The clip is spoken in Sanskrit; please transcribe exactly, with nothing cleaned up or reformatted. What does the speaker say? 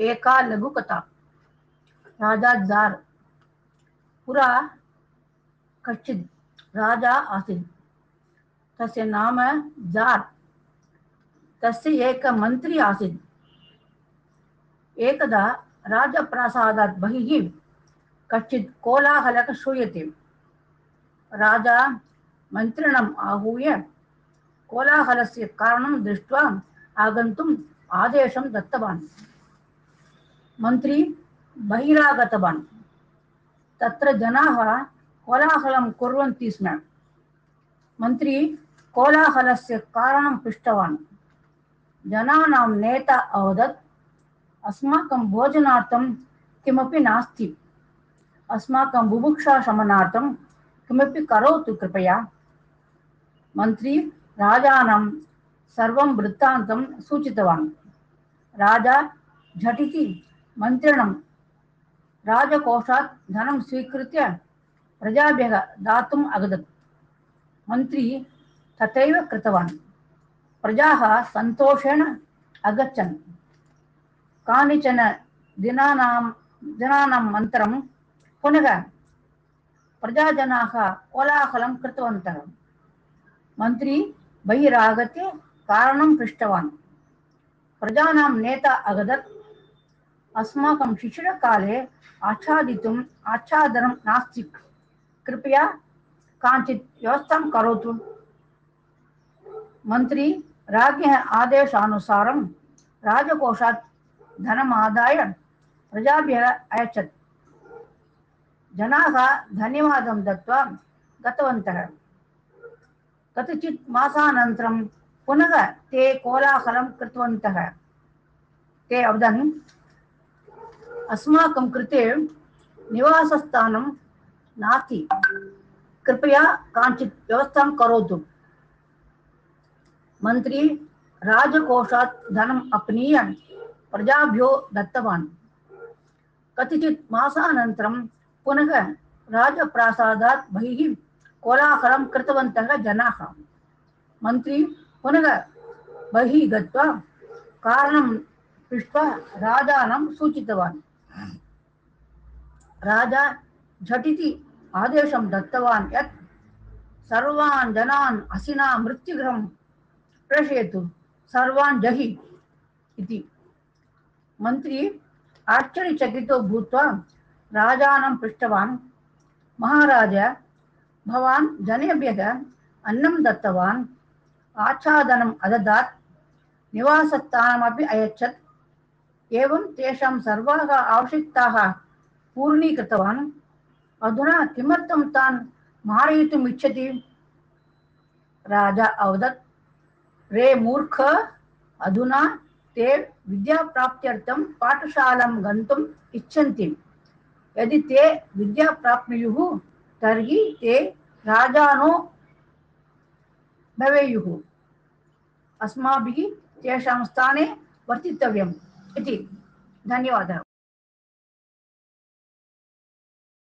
एका लघुकथा। राजा जार। पुरा कश्चित् राजा आसीत्। तस्य नाम जार। तस्य एक मन्त्री आसीत्। एकदा राजप्रासादात् बहिः कश्चित् कोलाहलः श्रूयते। राजा मन्त्रिणम् आहूय कोलाहलस्य कारणं दृष्ट्वा आगन्तुम् आदेशं दत्तवान्। मन्त्री बहिरागतवान्। तत्र जनाः कोलाहलं कुर्वन्ति स्म। मन्त्री कोलाहलस्य कारणं पृष्टवान्। जनानां नेता अवदत्, अस्माकं भोजनार्थं किमपि नास्ति। अस्माकं बुभुक्षा शमनार्थं किमपि करोतु कृपया। मन्त्री राजानं सर्वं वृत्तान्तं सूचितवान्। राजा झटिति मन्त्रिणं राजकोषात् धनं स्वीकृत्य प्रजाभ्यः दातुम् अगदत्। मन्त्री तथैव कृतवान्। प्रजाः सन्तोषेण अगच्छन्। कानिचन दिनानां दिनानाम् पुनः प्रजाजनाः कोलाहलं कृतवन्तः। मन्त्री बहिरागत्य कारणं पृष्टवान्। प्रजानां नेता अगदत्, अस्माकं शिशिरकाले आच्छादितुम् आच्छादनं नास्ति। कृपया काञ्चित् व्यवस्थां करोतु। मन्त्री राज्ञः आदेशानुसारं राजकोषात् धनमादाय प्रजाभ्यः अयच्छत्। जनाः धन्यवादं दत्त्वा गतवन्तः। कतिचित् मासानन्तरं पुनः ते कोलाहलं कृतवन्तः। ते अवदन्, अस्माकं कृते निवासस्थानं नास्ति। कृपया काञ्चित् व्यवस्थां करोतु। मन्त्री राजकोषात् धनम् अपनीय प्रजाभ्यो दत्तवान्। कतिचित् मासानन्तरं पुनः राजप्रासादात् बहिः कोलाहलं कृतवन्तः जनाः। मन्त्री पुनः बहिः गत्वा कारणं पृष्ट्वा राजानं सूचितवान्। राजा झटिति आदेशं दत्तवान् यत् सर्वान् जनान् हसिना मृत्युगृहं प्रेषयतु, सर्वान् जहि इति। मन्त्री आश्चर्यचकितो भूत्वा राजानं पृष्टवान्, महाराज, भवान् जनेभ्यः अन्नं दत्तवान्, आच्छादनम् अददात्, निवासस्थानमपि अयच्छत्, एवं तेषां सर्वाः आवश्यकताः पूर्णीकृतवान्। अधुना किमर्थं तान् मारयितुम् इच्छति? राजा अवदत्, रे मूर्ख, अधुना ते विद्याप्राप्त्यर्थं पाठशालां गन्तुम् इच्छन्ति। यदि ते विद्या प्राप्नुयुः तर्हि ते राजानो भवेयुः। अस्माभिः तेषां स्थाने वर्तितव्यम् इति। धन्यवादः।